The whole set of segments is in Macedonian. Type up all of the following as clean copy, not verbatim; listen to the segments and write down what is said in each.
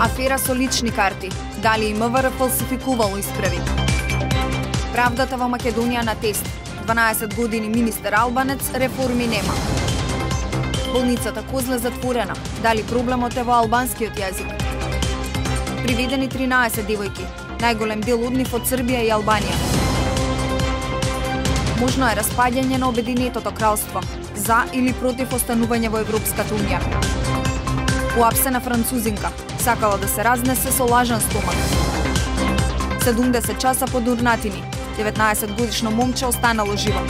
Афера со лични карти. Дали и МВР фалсификувало исправи? Правдата во Македонија на тест. 12 години министер Албанец, реформи нема. Болницата Козле затворена. Дали проблемот е во албанскиот јазик? Приведени 13 девојки. Најголем дел од нив од Србија и Албанија. Можно е распаѓање на Обединетото кралство. За или против останување во Европската унија. Уапсена французинка. Сакала да се разнесе со лажен стомак. 70 часа по Дурнатини. 19 годишно момче останало живо.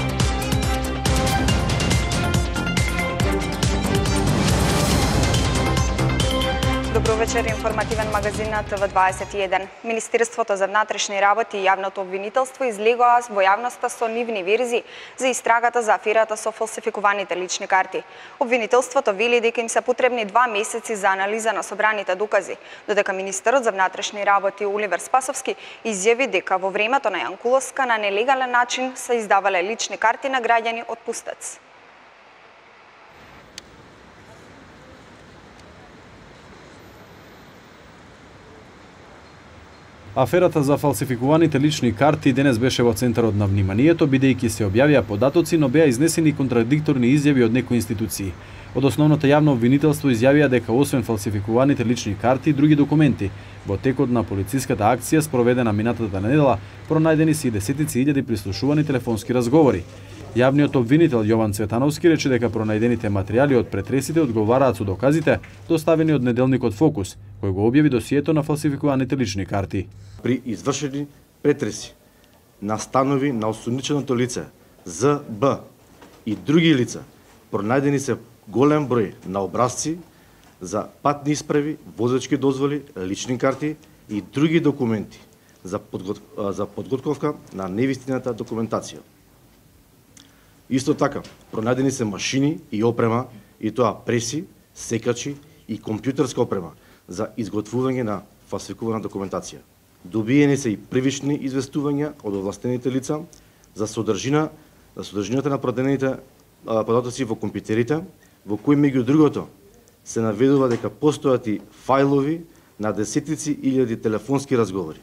Добро вечер, информативен магазин на ТВ21. Министерството за внатрешни работи и јавното обвинителство излегоа во јавноста со нивни верзии за истрагата за аферата со фалсификуваните лични карти. Обвинителството вели дека им се потребни 2 месеци за анализа на собраните докази, додека министерот за внатрешни работи Оливер Спасовски изјави дека во времето на Јанкуловска на нелегален начин се издавале лични карти на граѓани од Пустец. Аферата за фалсификуваните лични карти денес беше во центарот на вниманието, бидејќи се објавија податоци, но беа изнесени контрадикторни изјави од некои институции. Од основното јавно обвинителство изјавија дека освен фалсификуваните лични карти и други документи, во текот на полициската акција спроведена минатата недела, пронајдени се и десетици илјади прислушувани телефонски разговори. Јавниот обвинител Јован Цветановски рече дека пронајдените материјали од претресите одговараат со доказите доставени од неделникот Фокус, кој го објави досието на фалсификуваните лични карти. При извршени претреси на станови на осумниченото лице ЗБ и други лица, пронајдени се голем број на образци за патни исправи, возачки дозволи, лични карти и други документи за подготовка на невистината документација. Исто така, пронајдени се машини и опрема, и тоа преси, секачи и компјутерска опрема за изготвување на фалсификувана документација. Добиени се и првични известувања од овластените лица за содржината на продадените податоци во компјутерите, во кои меѓу другото се наведува дека постојат и фајлови на десетици илјади телефонски разговори.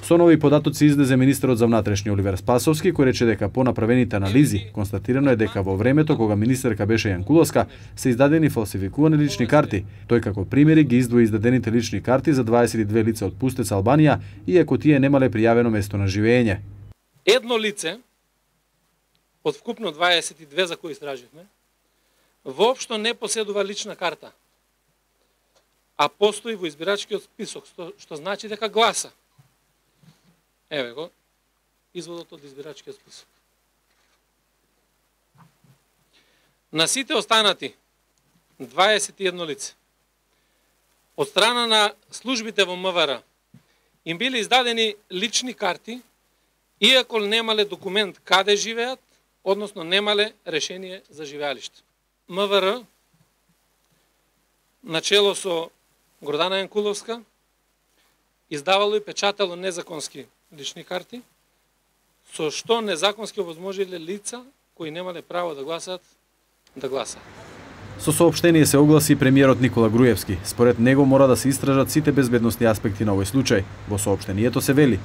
Со нови податоци излезе министерот за внатрешни Оливер Спасовски, кој рече дека по направените анализи констатирано е дека во времето кога министерка беше Јанкуловска се издадени фалсификувани лични карти. Тој како примери ги издвои издадените лични карти за 22 лица од Пустец, Албанија, иако тие немале пријавено место на живење. Едно лице од вкупно 22 за кои истраживме, воопшто не поседува лична карта, а постои во избирачкиот список, што значи дека гласа. Еве го, изводот од избирачкиот список. На сите останати 21 лице, од страна на службите во МВР, им били издадени лични карти, иако немале документ каде живеат, односно немале решение за живеалиште. МВР, начело со Гордана Јанкуловска, издавало и печатало незаконски лични карти, со што незаконски овозможиле лица кои немале право да гласат, да гласат. Со соопштение се огласи премиерот Никола Груевски. Според него мора да се истражат сите безбедносни аспекти на овој случај. Во соопштението се вели: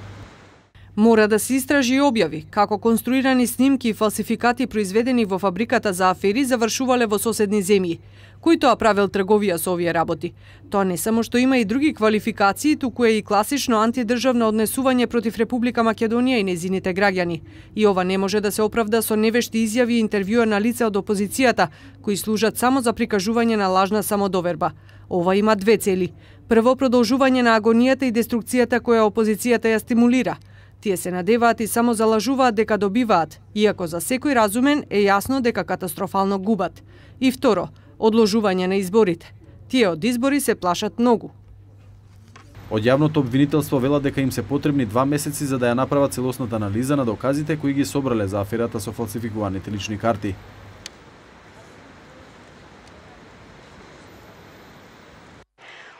мора да се истражи и објави како конструирани снимки и фалсификати произведени во фабриката за афери завршувале во соседни земји. Кој тоа правел трговија со овие работи? Тоа не само што има и други квалификации, туку е и класично антидржавно однесување против Република Македонија и незините граѓани. И ова не може да се оправда со невешти изјави и интервјуа на лица од опозицијата, кои служат само за прикажување на лажна самодоверба. Ова има две цели. Прво, продолжување на агонијата и деструкцијата која опозицијата ја стимулира. Тие се надеваат и само залажуваат дека добиваат, иако за секој разумен е јасно дека катастрофално губат. И второ, одложување на изборите. Тие од избори се плашат многу. Од јавното обвинителство велат дека им се потребни 2 месеци за да ја направат целосната анализа на доказите кои ги собрале за аферата со фалсификуваните лични карти.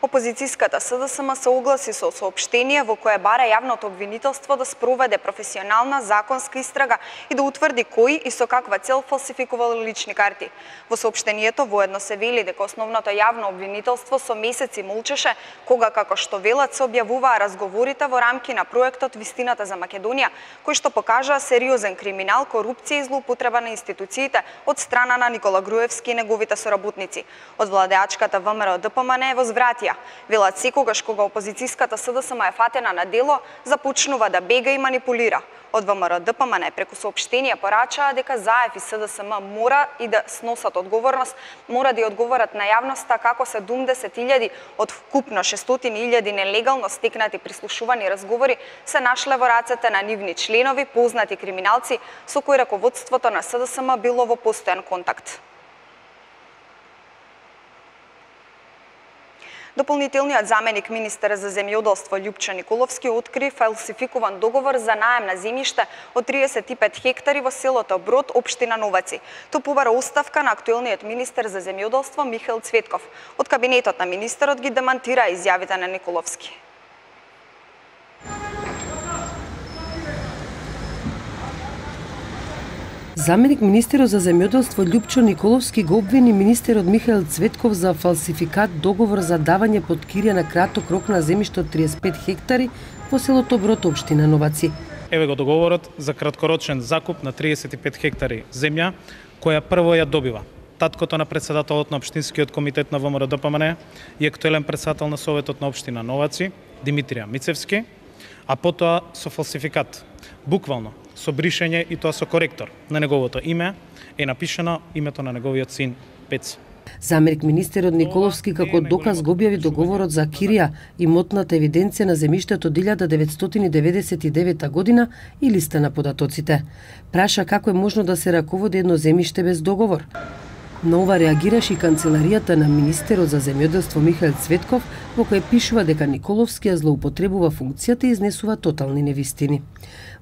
Опозицијската СДСМ се огласи со соопштение во кое бара јавното обвинителство да спроведе професионална законска истрага и да утврди кои и со каква цел фалсификувал лични карти. Во соопштението воедно се вели дека основното јавно обвинителство со месеци молчеше кога, како што велат, се објавуваа разговорите во рамки на проектот Вистината за Македонија, кој што покажаа сериозен криминал, корупција и злоупотреба на институциите од страна на Никола Груевски и неговите соработници. Од владеачката ВМРО ДПМН возвратија. Велат секогаш кога опозицијската СДСМ е фатена на дело, започнува да бега и манипулира. Од ВМРО ДПМН преку соопштение порачаа дека ЗАЕФ и СДСМ мора и да сносат одговорност, мора да ја одговорат на јавноста како 70.000 од вкупно 600.000 нелегално стекнати прислушувани разговори се нашле во рацете на нивни членови, познати криминалци со кои раководството на СДСМ било во постојан контакт. Дополнителниот заменик министер за земјоделство Љупчо Николовски откри фалсификуван договор за наем на земјиште од 35 хектари во селото Брод, општина Новаци. Тоа побара оставка на актуелниот министер за земјоделство Михаил Цветков. Од кабинетот на министерот ги демантира изјавите на Николовски. Заменик министерот за земјоделство Љупчо Николовски го обвини министерот Михаил Цветков за фалсификат договор за давање под кирија на краток рок на земјиште од 35 хектари во селото Брод, општина Новаци. Еве го договорот за краткорочен закуп на 35 хектари земја, која прво ја добива таткото на председателот на општинскиот комитет на ВМРО ДПМН и актуелен председател на советот на општина Новаци, Димитрија Мицевски, а потоа со фалсификат. Буквално, со бришење и тоа со коректор на неговото име е напишано името на неговиот син Пеци. Заменик министерот Николовски како доказ го објави договорот за кирија, имотната евиденција на земјиштето од 1999 година и листа на податоците. Праша како е можно да се раководи едно земјиште без договор. На ова реагираше и канцеларијата на министерот за земјоделство Михаил Цветков, во кој пишува дека Николовски ја злоупотребува функцијата и изнесува тотални невистини.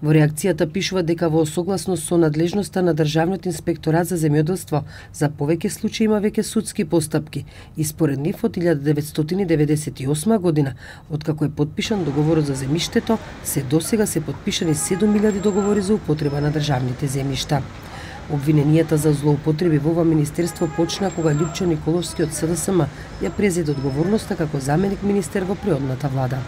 Во реакцијата пишува дека во согласност со надлежноста на Државниот инспекторат за земјоделство за повеќе случаи има веќе судски постапки и според нив од 1998 година, откако е потпишан договорот за земјиштето, се досега се потпишани 7000 договори за употреба на државните земјишта. Обвиненијата за злоупотреби во ова министерство почна кога Љупчо Николовски од СДСМ ја презеде одговорноста како заменик министер во преодната влада.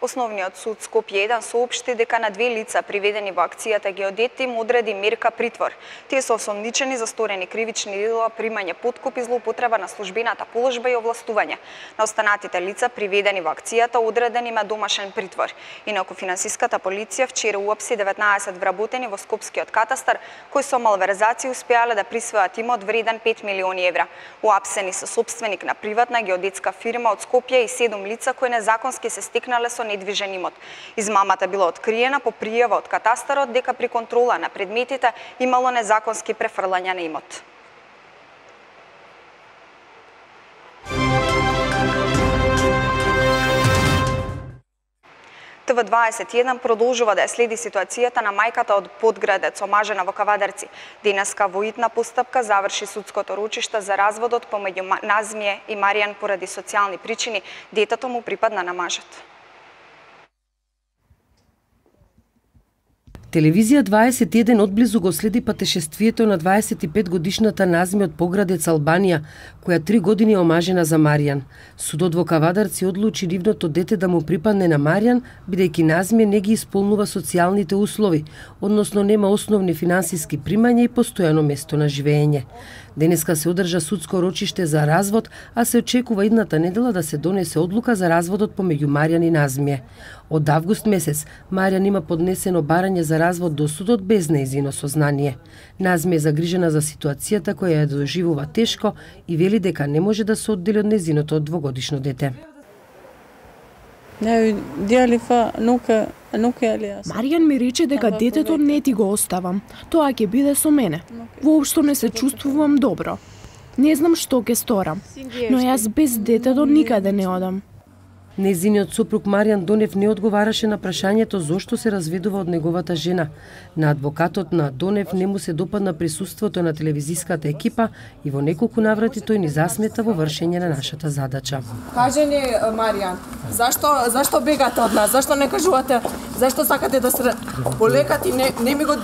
Основниот суд Скопје 1 соопшти дека на 2 лица приведени во акцијата Геодет им одреди мерка притвор. Тие се осомничени за сторени кривични дела, примање подкуп и злоупотреба на службената положба и овластување. На останатите лица приведени во акцијата одреден им е домашен притвор. Инаку финансиската полиција вчера уапси 19 вработени во Скопскиот катастар кои со малверзација успеале да присвојат имот вреден 5 милиони евра. Уапсени се сопственик на приватна геодетска фирма од Скопје и 7 лица кои незаконски се стекнале со недвижен имот. Измамата била откриена по пријава од катастарот дека при контрола на предметите имало незаконски префрлања на имот. ТВ21 продолжува да ја следи ситуацијата на мајката од Подградец, омажена во Кавадарци. Денеска во итна постапка заврши судското рочиште за разводот помеѓу Назмие и Маријан поради социјални причини. Детето му припадна на мажот. Телевизија 21 одблизу го следи патешествието на 25-годишната Назми од Поградец, Албанија, која 3 години е омажена за Маријан. Судот во Кавадарци одлучи нивното дете да му припадне на Маријан, бидејќи Назми не ги исполнува социјалните услови, односно нема основни финансиски примања и постојано место на живење. Денеска се одржа судско рочиште за развод, а се очекува идната недела да се донесе одлука за разводот помеѓу Маријан и Назмие. Од август месец Маријан има поднесено барање за развод до судот без нејзино сознание. Назмие е загрижена за ситуацијата која ја доживува тешко и вели дека не може да се оддели од нејзиното 2-годишно дете. Маријан ми рече дека детето не ти го оставам. Тоа ќе биде со мене. Воопшто не се чувствувам добро. Не знам што ќе сторам, но јас без детето никаде не одам. Нејзиниот сопруг Маријан Донев не одговараше на прашањето зошто се разведува од неговата жена. На адвокатот на Донев не му се допадна присуството на телевизиската екипа и во неколку наврати тој ни засмета во вршење на нашата задача. Кажи ни, Маријан, зашто бегате од нас? Зашто не кажувате? Зашто сакате да се полекати? Не ми го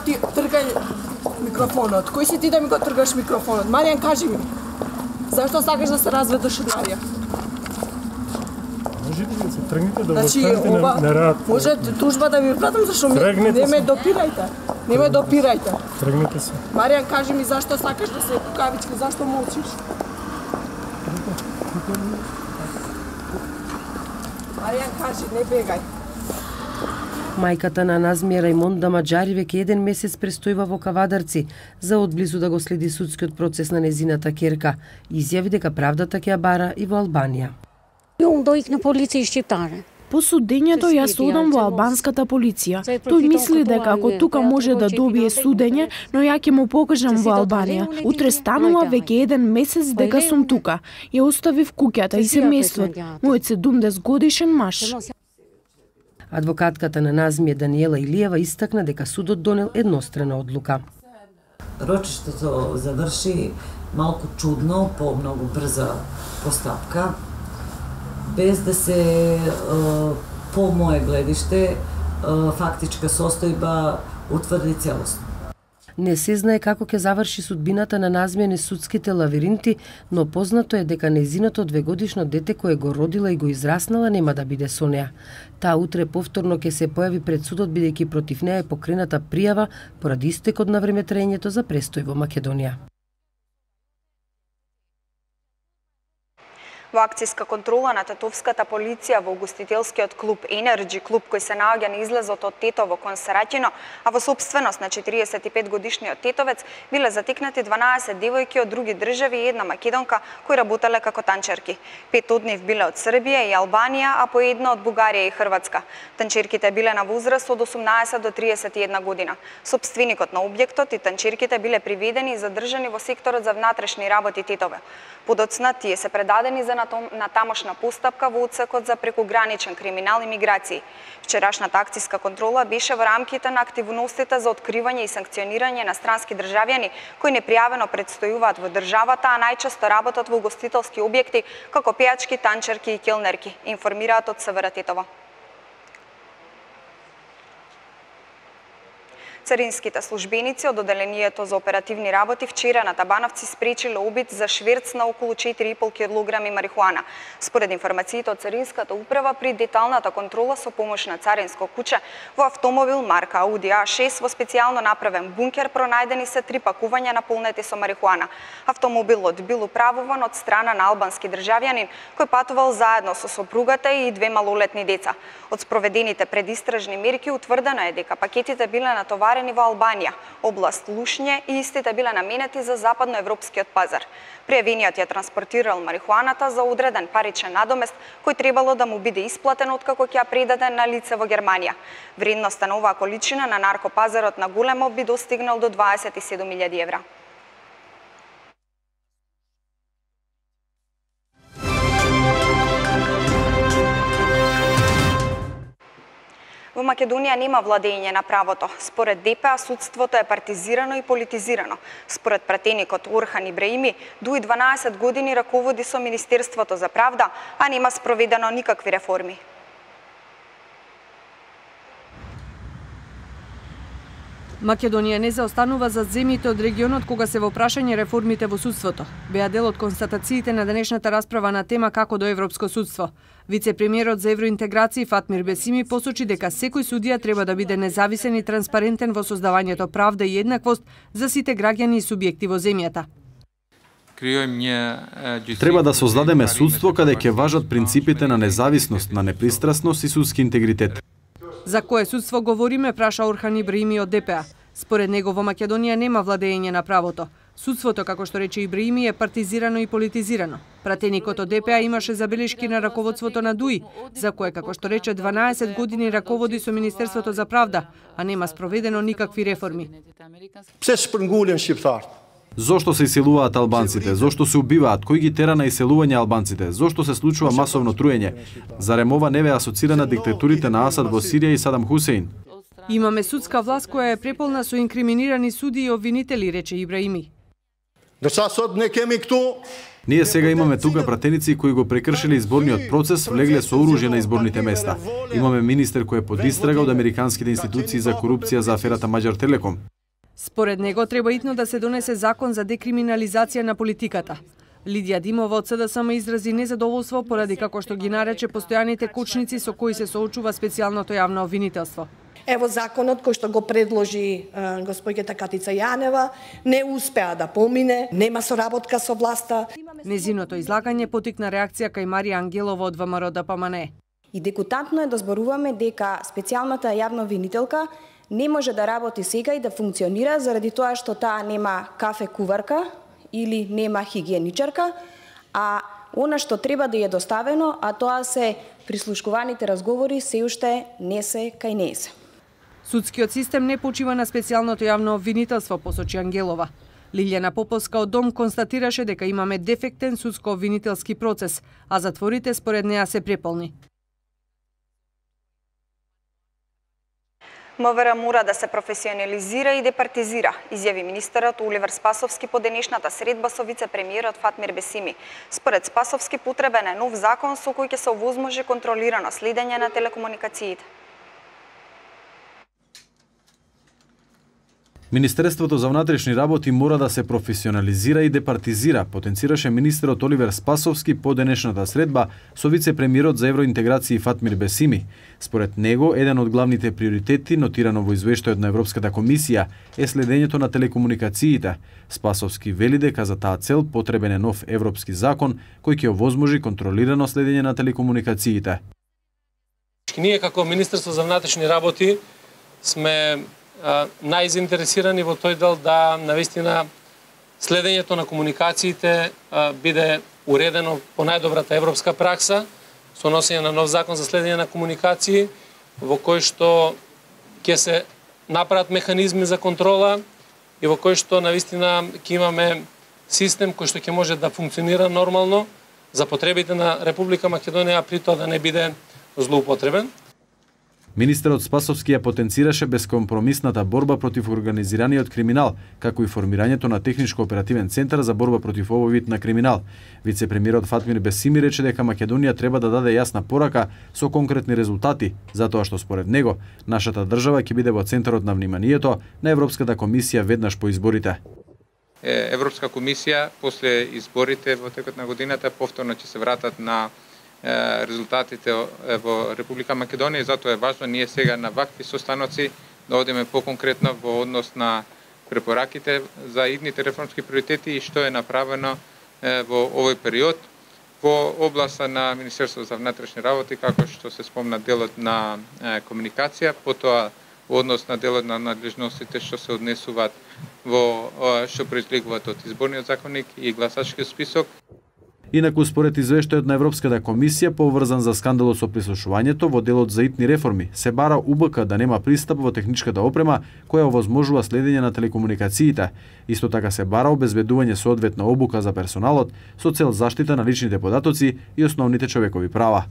ти тргај микрофонот. Кој си ти да ми го тргаш микрофонот? Маријан, кажи ми. Зашто сакаш да се разведеш од Марија? Можете да се тргнете да значи, останете на рад. Може тужба да ви пратам зашто не ме допирајте. Не ме допирајте. Тргнете се. Маријан, кажи ми зашто сакаш да се кукавички, зашто молчиш? Маријан, кажи, не бегај. Мајката на Назмија Рајмонда Маџари веќе 1 месец престојува во Кавадарци за одблизу да го следи судскиот процес на незината ќерка. Изјави дека правдата ќе ја бара и во Албанија. Јун дојк на полиција штиптаре. По судењето јас одам во албанската полиција. Тој мисли дека ако тука може да добие судење, но ја ќе му покажам во Албанија. Утре станува веќе 1 месец дека сум тука. Ја оставив куќата и семејството, мојот 70 годишен маж. Адвокатката на Назмија Даниела Илиева истакна дека судот донел еднострана одлука. Рочиштето заврши малку чудно, по многу брза постапка, без да се, по моје гледиште, фактичка состојба утврди целосно. Не се знае како ќе заврши судбината на Назмија низ судските лавиринти, но познато е дека нејзиното 2-годишно дете кое го родила и го израснала нема да биде со неа. Таа утре повторно ќе се појави пред судот бидејќи против неа е покрената пријава поради истекот на времетраењето за престој во Македонија. Во акцијска контрола на тетовската полиција во угостителскиот клуб Енерджи, клуб кој се наоѓа на излезот од Тетово кон Сараќино, а во собственост на 45-годишниот тетовец, биле затикнати 12 девојки од други држави и една македонка кои работеле како танчерки. 5 од нив биле од Србија и Албанија, а по една од Бугарија и Хрватска. Танчерките биле на возраст од 18 до 31 година. Собственикот на објектот и танчерките биле приведени и задржани во секторот за внатрешни работи Тетово. Подоцна тие се предадени за на тамошна постапка во одсекот за прекуграничен криминал и миграции. Вчерашната акцијска контрола беше во рамките на активностите за откривање и санкционирање на странски државјани кои непријавено предстојуваат во државата, а најчесто работат во угостителски објекти како пејачки, танчерки и келнерки, информираат од СВР Тетово. Царинските службеници од Оделението за оперативни работи вчера на Табановци спречиле обид за шверц на околу 4,5 килограми марихуана. Според информациите од Царинската управа, при деталната контрола со помош на царинско куче, во автомобил марка Ауди А6 во специјално направен бункер пронајдени се 3 пакувања наполнети со марихуана. Автомобилот бил управуван од страна на албански државјанин кој патувал заедно со сопругата и 2 малолетни деца. Од спроведените предистражни мерки утврдено е дека пакетите биле натоварени во Албанија, област Лушње, и истите биле наменети за западноевропскиот пазар. Пријавениот ја транспортирал марихуаната за одреден паричен надомест кој требало да му биде исплатен откако ќе ја предаде на лице во Германија. Вредноста на оваа количина на наркопазарот на Големо би достигнал до 27.000 евра. Во Македонија нема владење на правото. Според ДПА, судството е партизирано и политизирано. Според пратеникот Орхан Ибраими, дуи 12 години раководи со Министерството за правда, а нема спроведено никакви реформи. Македонија не заостанува зад земјите од регионот кога се во прашање реформите во судството. Беа дел од констатациите на денешната расправа на тема како до Европско судство. Вице-премиерот за евроинтеграција Фатмир Бесими посочи дека секој судија треба да биде независен и транспарентен во создавањето правда и еднаквост за сите граѓани и субјекти во земјата. Треба да создадеме судство каде ќе важат принципите на независност, на непристрасност и судски интегритет. За кое судство говориме, праша Орхан Ибраими од ДПА. Според него во Македонија нема владење на правото. Судството, како што рече Ибраими, е партизирано и политизирано. Пратеникот од ДПА имаше забелешки на раководството на ДУИ, за кое, како што рече, 12 години раководи со Министерството за правда, а нема спроведено никакви реформи. Псе шпрнгулен шqiptarët? Зошто се иселуваат албанците? Зошто се убиваат? Кој ги тера на иселување албанците? Зошто се случува масовно труење? Зарем ова не ве асоцира на диктатурите на Асад во Сирија и Садам Хусеин? Имаме судска власт која е преполна со инкриминирани суди и обвинители, рече Ибраими. Ние сега имаме тука пратеници кои го прекршиле изборниот процес, влегле со оружје на изборните места. Имаме министер кој е под истрага од американските институции за корупција за аферата Маđar Telekom. Според него треба итно да се донесе закон за декриминализација на политиката. Лидија Димова од СДСМ изрази незадоволство поради како што ги нарече постојаните кочници со кои се соочува специјалното јавно обвинителство. Ево законот кој што го предложи господјата Катица Јанева не успеа да помине, нема соработка со власта. Незиното излагање потикна реакција кај Марија Ангелова од ВМРО ДПМНЕ. И декутантно е да зборуваме дека специјалната јавна обвинителка не може да работи сега и да функционира заради тоа што таа нема кафе куварка или нема хигиеничарка, а она што треба да е доставено, а тоа се прислушкуваните разговори, се уште не се кај неј се. Судскиот систем не почива на специјалното јавно обвинителство, посочи Ангелова. Лилјана Поповска од Дом констатираше дека имаме дефектен судско-обвинителски процес, а затворите според неа се преполни. МВР мора да се професионализира и департизира, изјави министерот Оливер Спасовски по денешната средба со вице-премиерот Фатмир Бесими. Според Спасовски потребен е нов закон со кој ќе се овозможи контролирано следење на телекомуникациите. Министерството за внатрешни работи мора да се професионализира и департизира, потенцираше министерот Оливер Спасовски по денешната средба со вице-премиерот за евроинтеграција Фатмир Бесими. Според него, еден од главните приоритети, нотирано во извештајот на Европската комисија, е следењето на телекомуникациите. Спасовски вели дека за таа цел потребен е нов европски закон кој ќе овозможи контролирано следење на телекомуникациите. Ние како Министерство за внатрешни работи сме најзаинтересирани во тој дел да навистина следењето на комуникациите биде уредено по најдобрата европска пракса со носење на нов закон за следење на комуникации во кој што ќе се направат механизми за контрола и во кој што навистина ќе имаме систем кој што ќе може да функционира нормално за потребите на Република Македонија, а при тоа да не биде злоупотребен. Министерот Спасовски ја потенцираше безкомпромисната борба против организираниот криминал, како и формирањето на техничко-оперативен центар за борба против овој вид на криминал. Вице-премиерот Фатмир Бесими рече дека Македонија треба да даде јасна порака со конкретни резултати, затоа што според него нашата држава ќе биде во центарот на вниманието на Европската комисија веднаш по изборите. Европска комисија после изборите во текот на годината повторно ќе се вратат на резултатите во Република Македонија и затоа е важно ние сега на вакви состаноци да одиме поконкретно во однос на препораките за идните реформски приоритети и што е направено во овој период во областа на Министерството за внатрешни работи, како што се спомна делот на комуникација, потоа во однос на делот на надлежностите што се однесуваат во што произлегуваат од изборниот законник и гласачкиот список. Инаку, според извештајот на Европската комисија, поврзан за скандалот со прислушувањето во делот за итни реформи, се бара УБК да нема пристап во техничката опрема која овозможува следење на телекомуникациите. Исто така се бара обезбедување соодветна обука за персоналот со цел заштита на личните податоци и основните човекови права.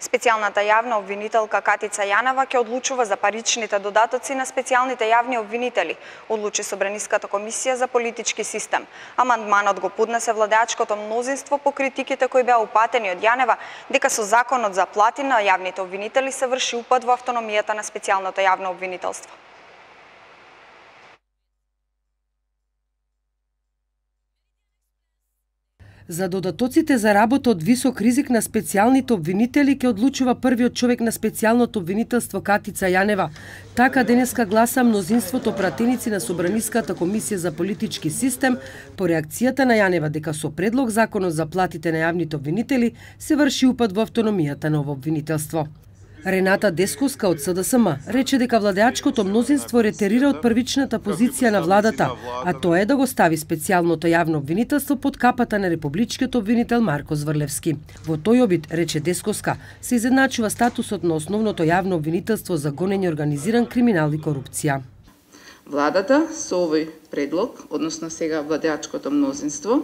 Специјалната јавна обвинителка Катица Јанева ќе одлучува за паричните додатоци на специјалните јавни обвинители, одлучи Собраниската комисија за политички систем. Амандманот го поднесе владеачкото мнозинство по критиките кои беа упатени од Јанева дека со законот за плати на јавните обвинители се врши упад во автономијата на специјалното јавно обвинителство. За додатоците за работа од висок ризик на специјалните обвинители ќе одлучува првиот човек на специјалното обвинителство Катица Јанева. Така денеска гласа мнозинството пратеници на Собраниската комисија за политички систем по реакцијата на Јанева дека со предлог законот за платите на јавните обвинители се врши упад во автономијата на ово обвинителство. Рената Десковска од СДСМ рече дека владеачкото мнозинство ретерира од првичната позиција на владата, а тоа е да го стави специјалното јавно обвинителство под капата на републичкиот обвинител Марко Зврлевски. Во тој обид, рече Десковска, се изедначува статусот на основното јавно обвинителство за гонење организиран криминал и корупција. Владата со овој предлог, односно сега владеачкото мнозинство,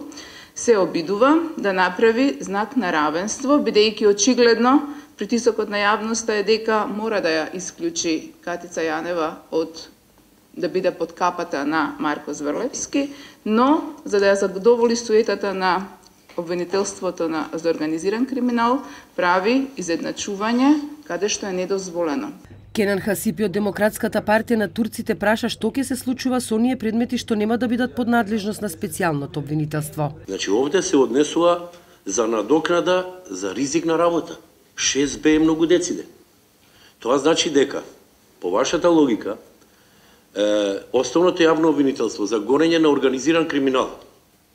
се обидува да направи знак на равенство, бидејќи очигледно притисокот на јавноста е дека мора да ја исклучи Катица Јанева од да биде под капата на Марко Зврлевски, но за да ја задоволи суетата на обвинителството за организиран криминал, прави изедначување каде што е недозволено. Кенан Хасипи од Демократската партија на турците праша што ќе се случува со оние предмети што нема да бидат под надлежност на специјалното обвинителство. Значи овде се однесува за надокнада за ризик на работа. 6Б е многу дециде. Тоа значи дека, по вашата логика, основното јавно обвинителство за гонење на организиран криминал,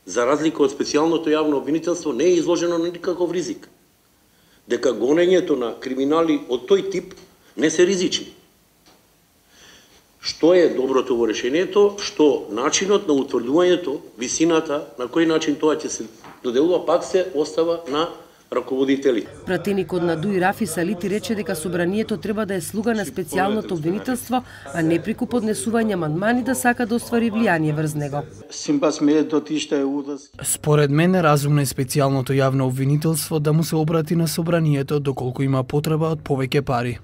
за разлика од специјалното јавно обвинителство, не е изложено на никаков ризик. Дека гонењето на криминали од тој тип не се ризични. Што е доброто во решението? Што начинот на утврдувањето, висината, на кој начин тоа ќе се доделува, пак се остава на раководители. Пратеникот на ДУИ Рафи Салити рече дека собранието треба да е слуга на специјалното обвинителство, а не преку поднесување амандмани да сака да оствари влијание врз него. Според мене разумно е специјалното јавно обвинителство да му се обрати на собранието доколку има потреба од повеќе пари.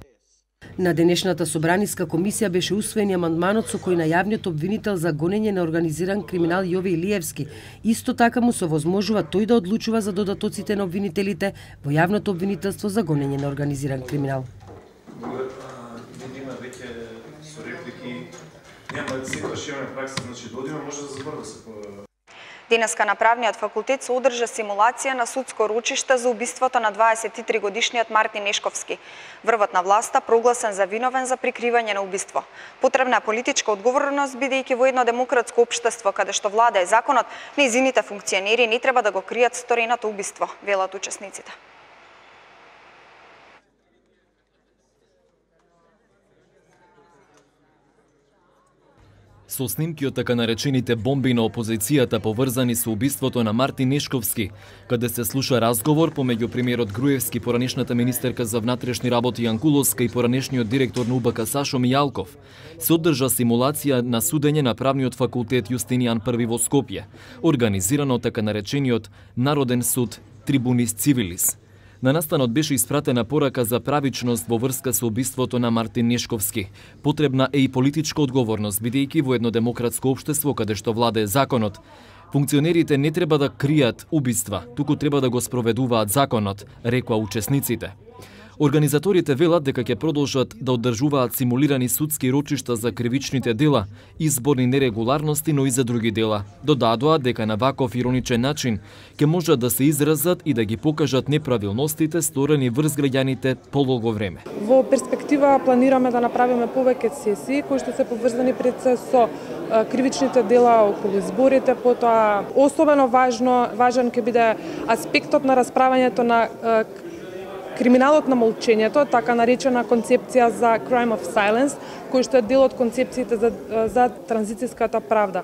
На денешната собраниска комисија беше усвоен амандманот со кој на јавниот обвинител за гонење на организиран криминал Јове Илиевски исто така му се овозможува тој да одлучува за додатоците на обвинителите во јавното обвинителство за гонење на организиран криминал. Има веќе со реплики, нема секогаш имаме пракса, значи додима може да збор да се. Денеска на правниот факултет се одржа симулација на судско ручиште за убиството на 23-годишниот Мартин Нешковски. Врвот на власта прогласен за виновен за прикривање на убиство. Потребна е политичка одговорност, бидејќи во едно демократско општество каде што влада е законот, нејзините функционери не треба да го кријат стореното убиство, велат учесниците. Со снимки од така наречените бомби на опозицијата поврзани со убиството на Мартин Нешковски, каде се слуша разговор помеѓу премиерот Груевски, поранешната министерка за внатрешни работи Јанкуловска и поранешниот директор на УБК Сашо Мијалков, се одржа симулација на судење на правниот факултет Јустинијан I во Скопје, организирано од така наречениот Народен суд Трибунис Цивилис. На настанот беше испратена порака за правичност во врска со убиството на Мартин Нешковски. Потребна е и политичка одговорност, бидејќи во едно демократско општество каде што владее законот, функционерите не треба да кријат убиства, туку треба да го спроведуваат законот, рекоа учесниците. Организаторите велат дека ќе продолжат да одржуваат симулирани судски рочишта за кривичните дела, изборни нерегуларности, но и за други дела. Додадоа дека на ваков ироничен начин ќе можат да се изразат и да ги покажат неправилностите сторени врз граѓаните подолго време. Во перспектива планираме да направиме повеќе сесии кои што се поврзани пред се со кривичните дела околу изборите, потоа особено важен ќе биде аспектот на расправањето на криминалот на молчењето, така наречена концепција за crime of silence, кој што е дел од концепциите за транзицијската правда.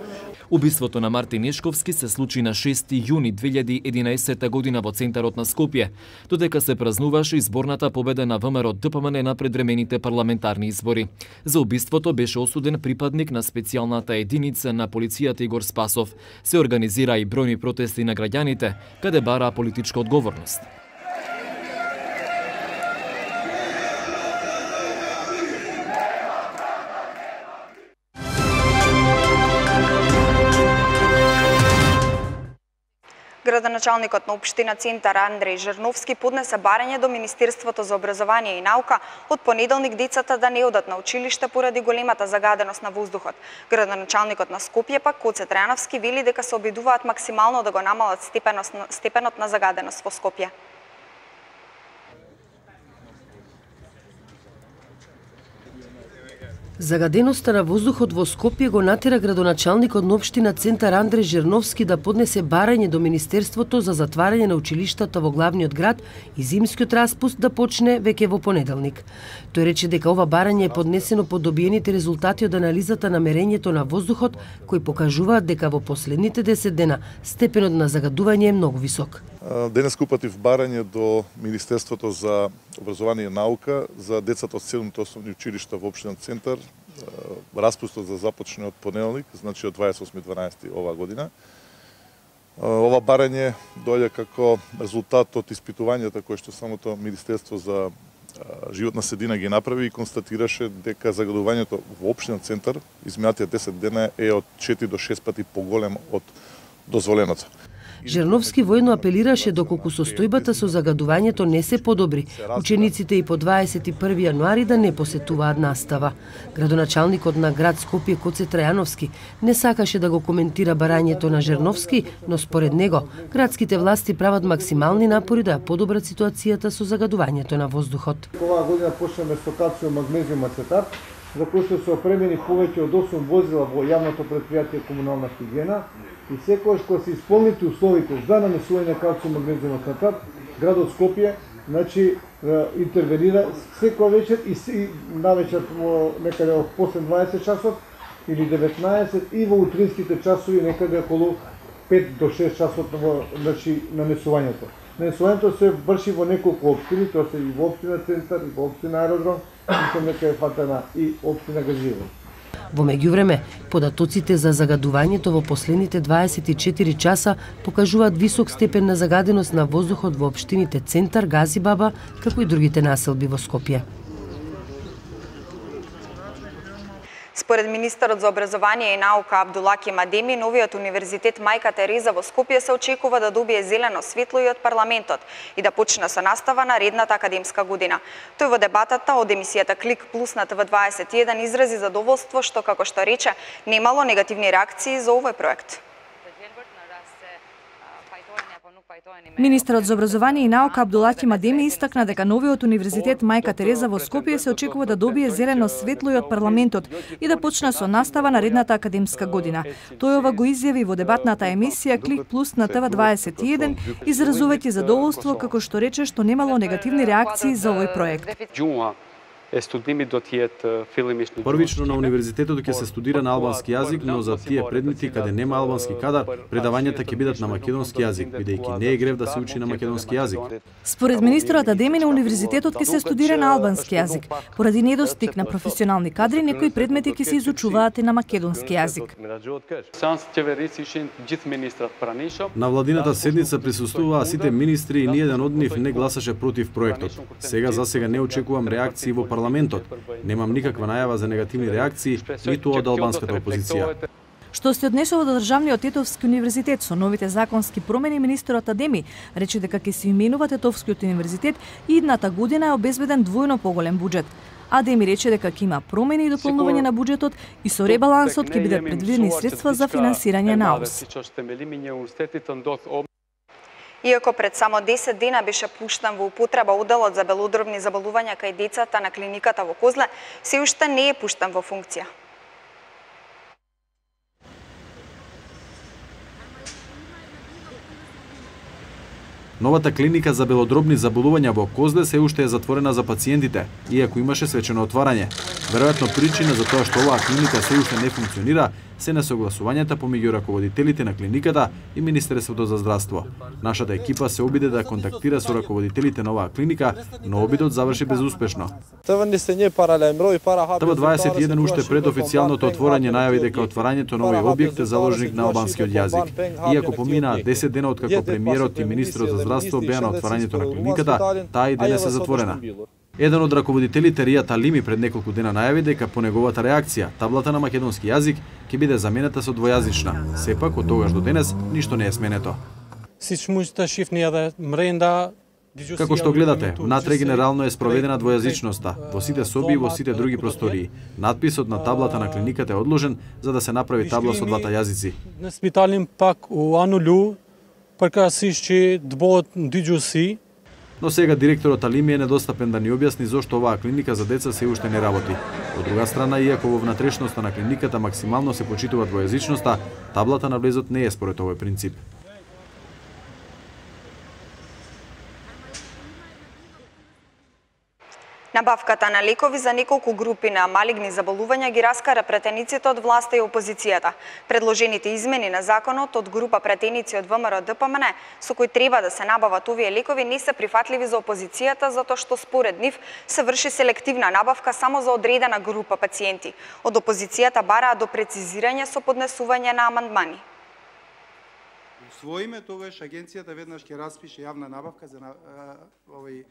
Убиството на Мартин Нешковски се случи на 6 јуни 2011 година во центарот на Скопје, додека се празнуваше изборната победа на ВМРО ДПМН на предвремените парламентарни избори. За убиството беше осуден припадник на специјалната единица на полицијата Игор Спасов. Се организира и бројни протести на граѓаните, каде бара политичка одговорност. Градоначалникот на општина Центар Андреј Жерновски поднесе барање до Министерството за образование и наука од понеделник децата да не одат на училиште поради големата загаденост на воздухот. Градоначалникот на Скопје пак Коце Трајановски вели дека се обидуваат максимално да го намалат степенот на загаденост во Скопје. Загаденоста на воздухот во Скопје го натера градоначалникот на општина Центар Андреј Жерновски да поднесе барање до Министерството за затварање на училиштата во главниот град и зимскиот распуст да почне веќе во понеделник. Тој рече дека ова барање е поднесено по добиените резултати од анализата на мерењето на воздухот, кои покажуваат дека во последните 10 дена степенот на загадување е многу висок. Денес упатив барање до Министерството за образование и наука за децата од 7 основни училишта во општина Центар, распустот за започне од понеделник, значи од 28.12. оваа година. Ова барање доаѓа како резултат од испитувањата кои што самото Министерство за животна средина ги направи и констатираше дека загадувањето во општина Центар изминатите 10 дена е од 4 до 6 пати поголем од дозволеното. Жерновски воедно апелираше доколку состојбата со загадувањето не се подобри, учениците и по 21 јануари да не посетуваат настава. Градоначалникот на град Скопје Коце Трајановски не сакаше да го коментира барањето на Жерновски, но според него градските власти прават максимални напори да ја подобрат ситуацијата со загадувањето на воздухот. Оваа година почнеме со калциум магнезиум ацетат, за кои што се опремени повеќе од 8 возила во јавното претпријатие комунална хигиена, и секогаш кога се исполнити условите за нанесување на калциум магнезиум ацетат, градот Скопје интервенира секоја вечер и навечер некаде после 20 часот или 19 и во утринските часови некаде околу 5 до 6 часот нанесувањето. Нанесувањето се врши во неколку општини, тоа се и во општина Центар, и во општина Аеродром, и некаде фатана и општина Газиево. Во меѓувреме, податоците за загадувањето во последните 24 часа покажуваат висок степен на загаденост на воздухот во општините Центар, Газибаба, како и другите населби во Скопје. Според министерот за образование и наука Абдулаки Мадеми, новиот универзитет Мајка Тереза во Скопје се очекува да добие зелено светло и од парламентот и да почне со настава наредната академска година. Тој во дебатата од емисијата Клик Плюс на ТВ21 изрази задоволство што, како што рече, немало негативни реакции за овој проект. Министерот за образование и наука Абдулаки Мадеми истакна дека новиот универзитет Мајка Тереза во Скопје се очекува да добие зелено светло и од парламентот и да почне со настава наредната академска година. Тој ова го изјави во дебатната емисија Клик Плюс на ТВ21, изразувајќи задоволство како што рече што немало негативни реакции за овој проект. Првично на универзитетот ќе се студира на албански јазик, но за тие предмети каде нема албански кадар, предавањата ќе бидат на македонски јазик, бидејќи не е грев да се учи на македонски јазик. Според министерот Адеми на универзитетот ќе се студира на албански јазик. Поради недостиг на професионални кадри, некои предмети ќе се изучуваат и на македонски јазик. На владината седница присуствуваа сите министри и ниеден од нив не гласаше против проектот. Сега не очекувам реакции во парламентот. Немам никаква најава за негативни реакции, ниту од албанската опозиција. Што се однесува до државниот Тетовски универзитет со новите законски промени, министерот Адеми рече дека ќе се именува Тетовскиот универзитет и идната година е обезбеден двојно поголем буџет. Адеми рече дека ќе има промени и дополнување на буџетот и со ребалансот ќе бидат предвидени средства за финансирање на АУС. Иако пред само 10 дена беше пуштен во употреба оделот за белодробни заболувања кај децата на клиниката во Козле, се уште не е пуштен во функција. Новата клиника за белодробни заболувања во Козле се уште е затворена за пациентите, иако имаше свечено отварање. Веројатно причина за тоа што оваа клиника се уште не функционира се несогласувањата помеѓу раководителите на клиниката и Министерството за здравство. Нашата екипа се обиде да контактира со раководителите на оваа клиника, но обидот заврши безуспешно. ТВ21 уште пред официјалното отворање најави дека отварањето на овој објект е заложник на албанскиот јазик. Иако поминаа 10 дена откако премиерот и министерот за здравство беа на отварањето на клиниката, таа и денес е затворена. Еден од раководителите Ријат Алими пред неколку дена најави дека по неговата реакција таблата на македонски јазик ќе биде заменета со двојазична. Сепак од тогаш до денес ништо не е сменето. Како што гледате, внатре генерално е спроведена двојазичноста во сите соби и во сите други простории. Надписот на таблата на клиниката е одложен за да се направи табла со двата јазици. На спиталин пак у анулу прекасишчи двоот диџуси. Но сега директорот Алими е недостапен да ни објасни зошто оваа клиника за деца се уште не работи. Од друга страна, иако во внатрешноста на клиниката максимално се почитува двојазичноста, таблата на влезот не е според овој принцип. Набавката на лекови за неколку групи на малигни заболувања ги раскара претениците од власта и опозицијата. Предложените измени на законот од група претеници од ВМРО ДПМН, со кои треба да се набават овие лекови, не се прифатливи за опозицијата, затоа што според нив се врши селективна набавка само за одредена група пациенти. Од опозицијата бараат до прецизирање со поднесување на амандмани. Своиме тогаш агенцијата веднаш ќе распише јавна набавка за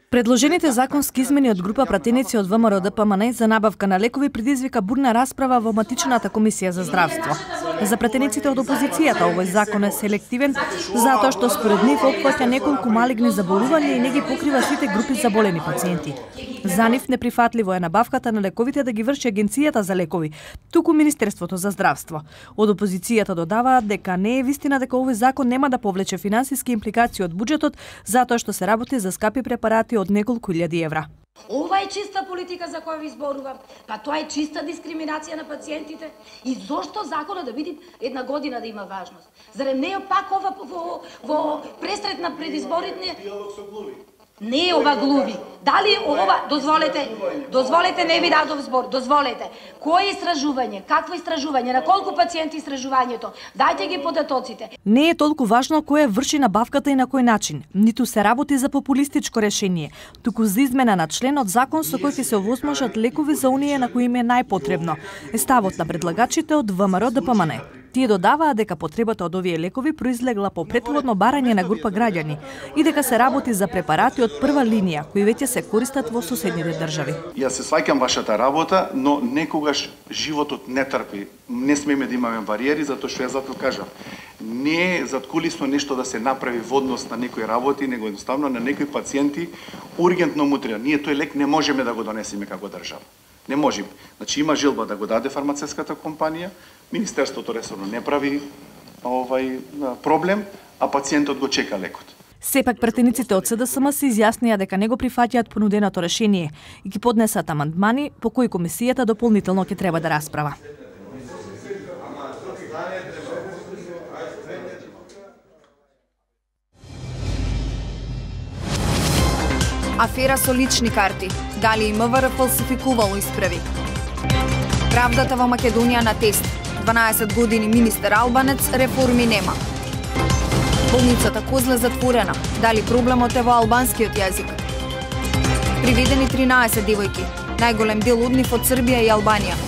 Предложените законски измени од група пратеници од ВМРО ДПМН за набавка на лекови предизвика бурна расправа во матичната комисија за здравство. За пратениците од опозицијата овој закон е селективен затоа што според нив опфаќа неколку малигни заболувања и не ги покрива сите групи заболени пациенти. За нив неприфатливо е набавката на лековите да ги врши агенцијата за лекови, туку Министерството за здравство. Од опозицијата додаваат дека не е вистина дека овој закон нема да повлече финансиски импликации од буџетот затоа што се работи за скапи препарати од неколку илјади евра. Ова е чиста политика за која ви зборувам, па тоа е чиста дискриминација на пациентите. И зошто законот да биде една година да има важност? Зарем не е пак ова во пресред на предизборите? Не е ова глуви. Дали ова, дозволете, не ви дадов збор, дозволете. Кој истражување, какво истражување, на колку пациенти истражувањето? Дајте ги податоците. Не е толку важно кој врши набавката и на кој начин. Ниту се работи за популистичко решение, туку за измена на член од закон со кој ќе се овозможат лекови за оние на кои им е најпотребно. Е ставот на предлагачите од ВМРО ДПМН. Тие додаваат дека потребата од овие лекови произлегла по претходно барање на група граѓани и дека се работи за препарати од прва линија кои веќе се користат во соседните држави. Јас се сваќам вашата работа, но некогаш животот не трпи. Не смеме да имаме бариери, затоа што јас затоа кажав. Не е заткулисно нешто да се направи во однос на некои работи, него едноставно на некои пациенти ургентно му треба. Ние тој лек не можеме да го донесеме како држава. Не можеме. Значи има желба да го даде фармацевската компанија, Министерството ресорно не прави проблем, а пациентот го чека лекот. Сепак пратениците од СДСМ се изјаснија дека не го прифаќаат понуденото решение и ги поднесат амандмани по кои комисијата дополнително ќе треба да расправа. Афера со лични карти. Дали и МВР фалсификувало исправи? Правдата во Македонија на тест. 12 години министер албанец, реформи нема. Болницата Козле затворена. Дали проблемот е во албанскиот јазик? Приведени 13 девојки. Најголем дел од нив од Србија и Албанија.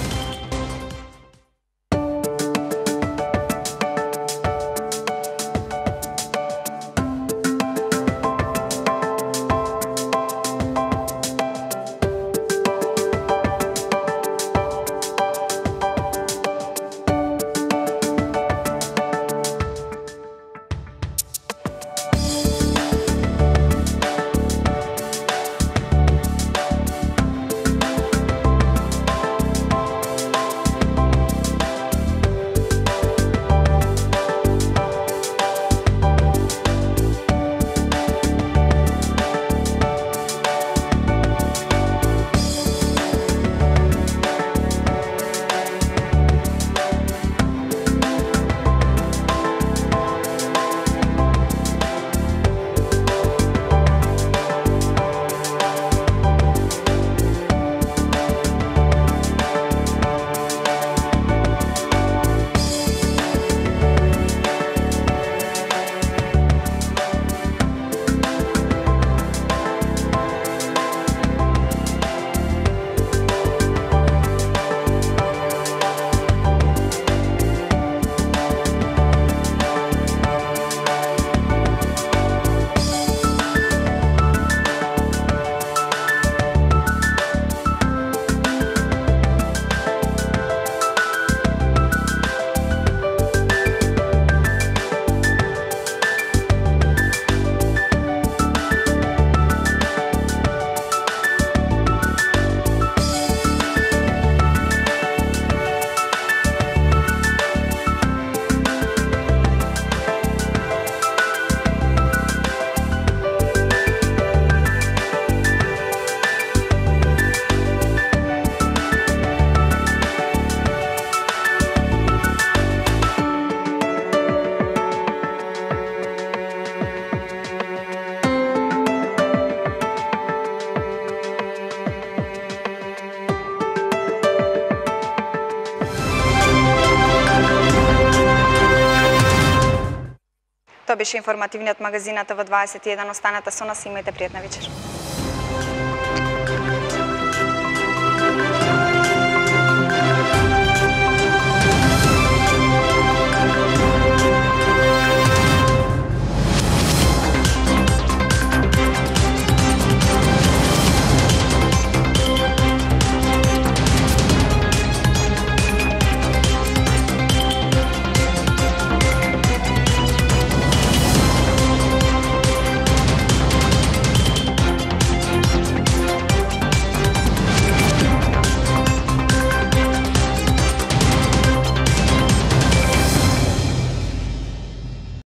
Тоа беше информативниот магазин на ТВ21. Останете со нас и имајте пријатна вечер.